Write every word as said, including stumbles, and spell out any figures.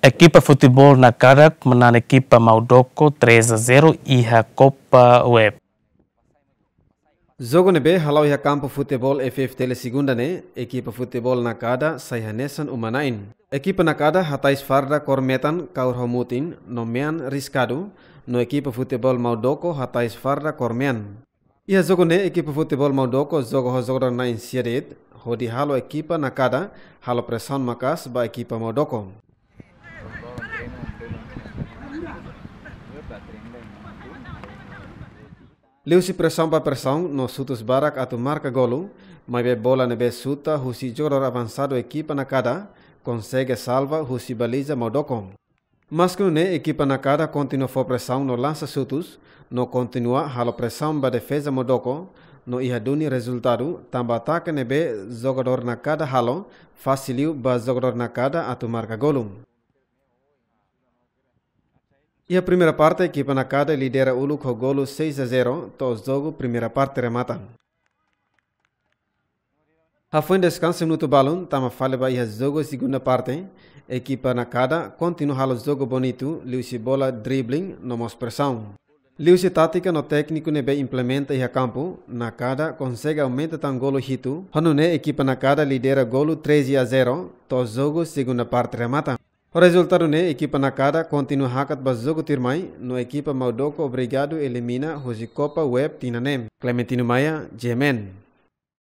Ekipa futeból Nakada manán ekipa Maudoko três a zero iha Copa Web. Jogu ne'ebé hala'o iha kampu futeból F F T L segunda ne'e, ekipa futeból Nakada sai hanesan uma-na'in. Ekipa Nakada hatais farda kór metan kaur ho mutin no mean riskadu, no ekipa futeból Maudoko hatais farda kór mean. Iha jogu ne'e ekipa futeból Maudoko joga ho jogadór na'in sia de'it, hodi halo ekipa Nakada halo presaun maka'as ba ekipa Maudoko. Liuhusi presaun ba presaun no xutus barak atu marka golu, maibé bola ne'ebé xuta husi jogadór avansadu ekipa Nakada konsege salva husi baliza Maudoko. Maske nune'e ekipa Nakada kontinua fó presaun no lansa xutus, no kontinua halo presaun ba defeza Maudoko, no iha duni rezultadu, tanba atake ne'ebé jogadór Nakada halo, fasil liu ba jogadór Nakada atu marka golu. Iha primeira parte, ekipa Nakada lidera uluk ho golu seis a zero, to'o jogu primeira parte remata. Hafoin deskansa minutu balun, tama fali ba iha jogu segunda parte, ekipa Nakada kontinua halo jogu bonitu, liuhusi bola dribbling no mós presaun. Liuhusi tátika no tékniku ne'ebé implementa iha kampu, Nakada konsege aumenta tan golu hitu, ho nune'e ekipa Nakada lidera golu treze a zero, to'o jogu segunda parte remata. Ho rezultadu ne'e ekipa Nakada kontinua hakat ba jogu tuirmai, no ekipa Maudoko obrigadu elimina husi Copa Web tinan ne'e. Clementino Maia, G M N.